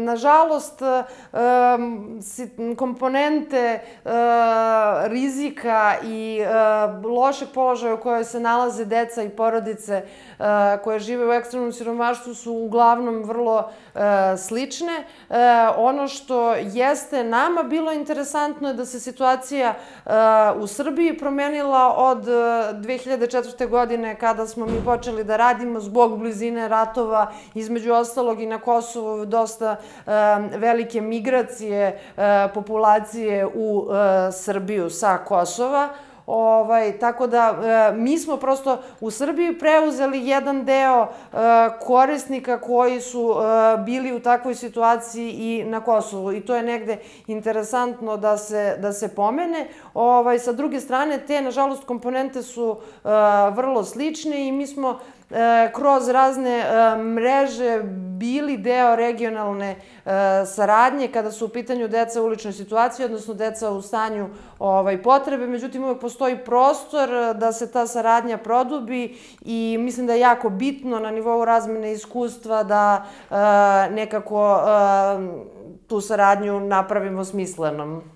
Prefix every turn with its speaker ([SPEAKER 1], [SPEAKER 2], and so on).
[SPEAKER 1] Nažalost, komponente rizika i lošeg položaja u kojoj se nalaze deca i porodice koje žive u ekstremnom siromaštvu su uglavnom vrlo slične. Ono što jeste nama bilo interesantno je da se situacija u Srbiji promenila od 2004. godine kada smo mi počeli da radimo zbog blizine ratova, između ostalog i na Kosovu dosta velike migracije populacije u Srbiju sa Kosova. Tako da mi smo prosto u Srbiji preuzeli jedan deo korisnika koji su bili u takvoj situaciji i na Kosovu i to je negde interesantno da se pomene. Sa druge strane, te, nažalost, komponente su vrlo slične i mi smo kroz razne mreže bili deo regionalne saradnje kada su u pitanju deca u uličnoj situaciji, odnosno deca u stanju potrebe. Međutim, uvek postoji prostor da se ta saradnja produbi i mislim da je jako bitno na nivou razmene iskustva da nekako tu saradnju napravimo smislenom.